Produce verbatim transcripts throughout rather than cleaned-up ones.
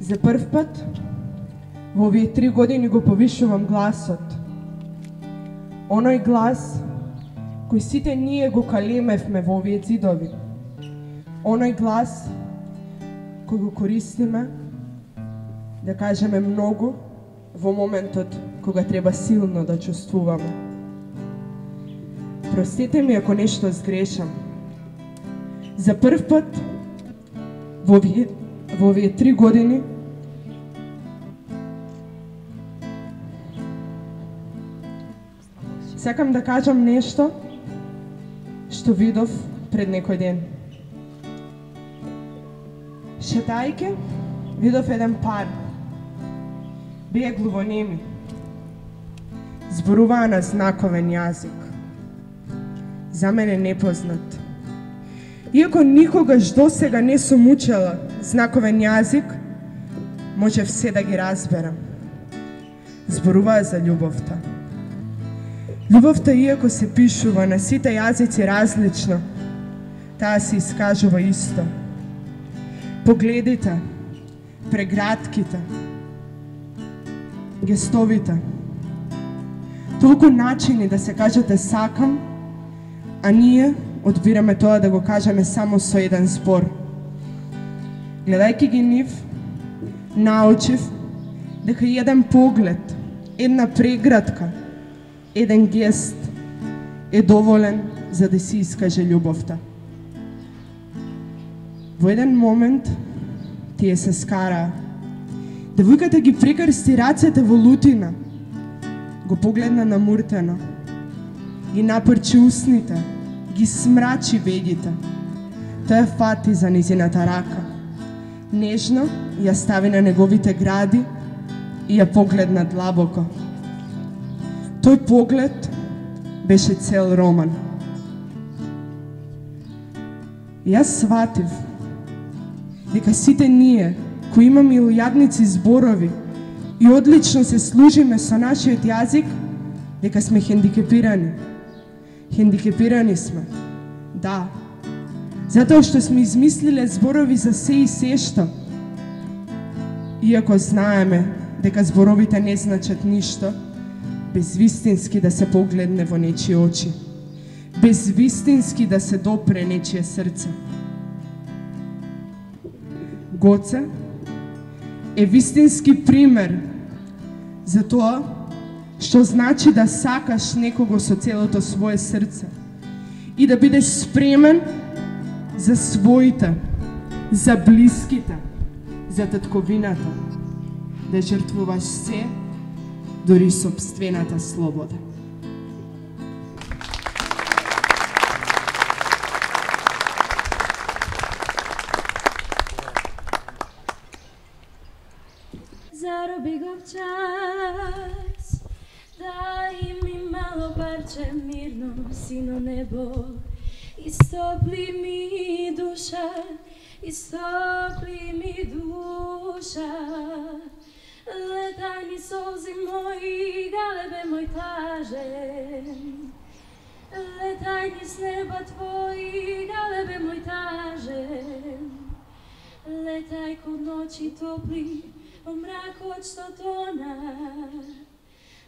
За прв пат во овие три години го повишувам гласот. Оној глас кој сите ние го калемевме во овие ѕидови. Оној глас кој го користиме да кажеме многу во моментот кога треба силно да чувствуваме. Простете ми ако нешто сгрешам. За прв пат во овие, во овие три години сакам да кажам нешто што видов пред некој ден. Шетајќи, видов еден пар. Беа глувонеми. Зборуваа на знаковен јазик. За мене непознат. Иако никогаш досега не сум учела знаковен јазик, можев се да ги разберам. Зборуваа за љубовта. Љубовта, иако се пишува на сите јазици различно, таа се искажува исто. Погледите, прегратките, гестовите. Толку начини да се кажете сакам, а ние одбираме тоа да го кажеме само со еден збор. Гледајќи ги нив, научив дека еден поглед, една прегратка, еден гест е доволен за да си искаже љубовта. Во еден момент тие се скараа. Девојката ги прекрсти рацете во лутина, го погледна намуртено, ги напрчи усните, ги смрачи вегите. Тој фати за низината рака. Нежно ја стави на неговите гради и ја погледна длабоко. Тој поглед беше цел роман. Јас сватив дека сите ние кои имаме илјадници зборови и одлично се служиме со нашиот јазик, дека сме хендикепирани. Хендикепирани сме. Да. Затоа што сме измислиле зборови за се и сешто. Иако знаеме дека зборовите не значат ништо, без вистински да се погледне во нечие очи, без вистински да се допре нечие срце. Гоце е вистински пример за тоа што значи да сакаш некого со целото свое срце и да бидеш спремен за своите, за блиските, за татковината, да жртвуваш се, дури собствената слобода. Зароби го час, дај ми мало парче мирно сино небо, истопли ми душа, истопли ми душа. Летај ми солзи мои, галебе мој тажен. Летај низ неба твои, галебе мој тажен. Летај кон ночи топли, во мракот што тона.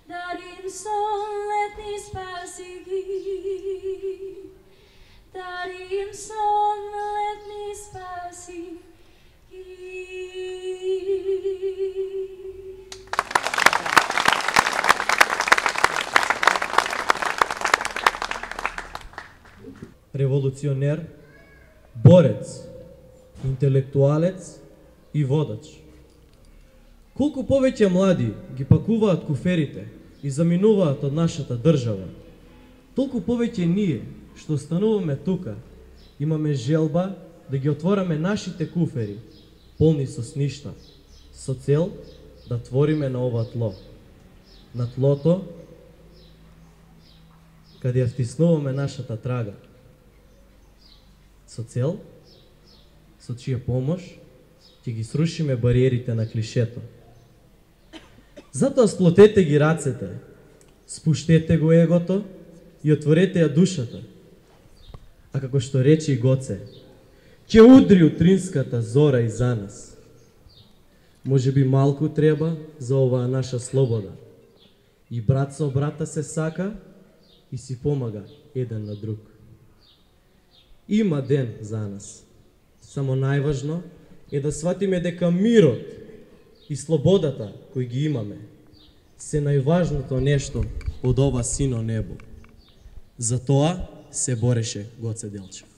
Дарим сон летни спаси ги. Дарим сон летни спаси ги. Револуционер, борец, интелектуалец и водач. Колку повеќе млади ги пакуваат куферите и заминуваат од нашата држава, толку повеќе ние, што остануваме тука, имаме желба да ги отвораме нашите куфери, полни со сништа, со цел да твориме на ова тло. На тлото, каде ја втиснуваме нашата трага. Со цел, со чија помош, ќе ги срушиме бариерите на клишето. Затоа сплотете ги рацете, спуштете го егото и отворете ја душата. А како што рече и Гоце, ќе удри утринската зора и за нас. Може би малку треба за оваа наша слобода. И брат со брата се сака и си помага еден на друг. Има ден за нас. Само најважно е да сватиме дека мирот и слободата кои ги имаме се најважното нешто од ова сино небо. За тоа се бореше Гоце Делчев.